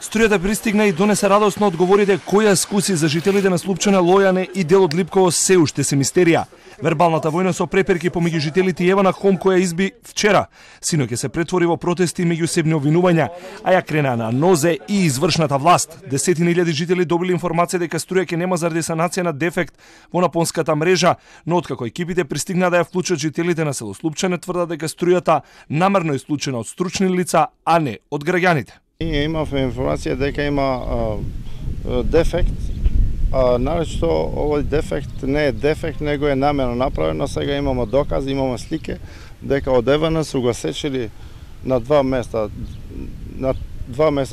Струјата пристигна и донесе радосно одговорите која скуси за жителите на Слупчане, Лојане и дел од Липково се уште се мистерија. Вербалната војна со преперки помеѓу жителите и Евана Хом која изби вчера, синоќа се претвори во протести и меѓусебни обвинувања, а ја крена на нозе и извршната власт. Десетини илјади жители добили информација дека струја ќе нема заради санација на дефект во напонската мрежа, но откако екипите пристигна да ја вклучат жителите на село Слупчане, тврдат дека струјата намерно е исклучена од стручни лица, а не од граѓаните. Ние имавме информација дека има дефект, а наречто овој дефект не е дефект, него е намерно направено. Сега имаме докази, имаме слики дека од Евана су го сечели на два места,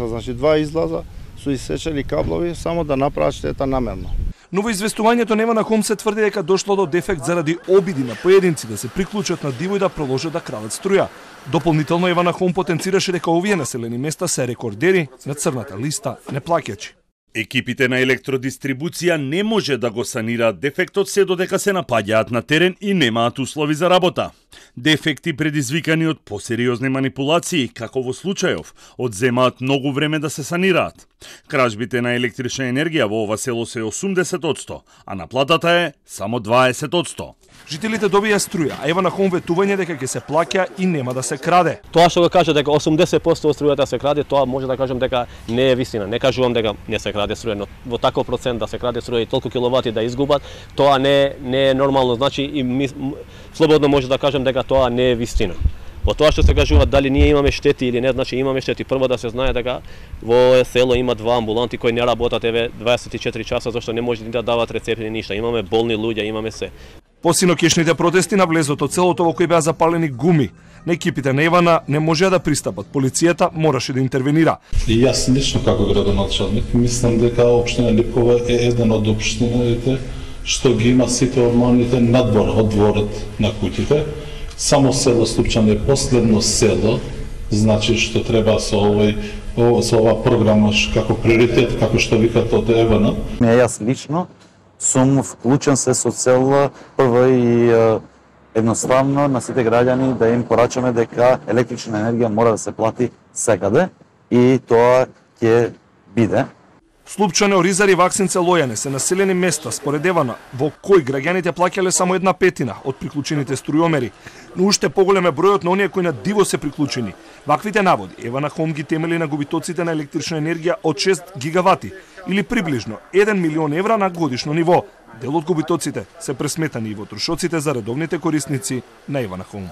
значи два излаза су исечели каблови само да направат штета намерно. Но во известувањето на Евана Хом се тврди дека дошло до дефект заради обиди на поединци да се приклучат на диво и да продолжат да крадат струја. Дополнително Евана Хом потенцираше дека овие населени места се рекордери на црната листа неплаќачи. Екипите на електродистрибуција не може да го санираат дефектот се додека се напаѓаат на терен и немаат услови за работа. Дефекти предизвикани од посериозни манипулации, како во случајов, одземаат многу време да се санираат. Кражбите на електрична енергија во ова село се 80%, а наплатата е само 20%. Жителите добија струја, а Евана Хом ветување дека ќе се плаќа и нема да се краде. Тоа што го кажа дека 80% од струјата се краде, тоа може да кажам дека не е вистина. Не кажувам дека не се краде струја, но во таков процент да се краде струја и толку киловати да изгубат, тоа не е нормално. Значи и слободно може да кажам дека тоа не е вистина. Во тоа што се кажува дали ние имаме штети или не, значи имаме штети. Прво да се знае дека во село има два амбуланти кои не работат 24 часа, зашто не може да дават рецепти ни ништа. Имаме болни луѓе, имаме се. По синокишните протести на влезот од селото во кој беа запалени гуми, на екипите на Евана не можеа да пристапат. Полицијата мораше да интервенира. И јас лично како градоначалник мислам дека општина Липково е еден од општините што ги има сите нормалните надвор од дворот на куќите. Само село Слупчане е последно село, значи што треба со ова програма како приоритет, како што викат од Евана. Јас лично сум вклучен се со цел прво и едноставно на сите граѓани да им порачаме дека електрична енергија мора да се плати секаде и тоа ќе биде. Слупчане, Оризари, Ваксинце, Лојане се населени места според Евана во кои граѓаните плаќале само 1/5 од приклучените струјомери, но уште поголем е бројот на оние кои на диво се приклучени. Ваквите наводи Евана Хом ги темели на губитоците на електрична енергија од 6 гигавати или приближно 1 милион евра на годишно ниво. Дел од губитоците се пресметани и во трошоците за редовните корисници на Евана Хом.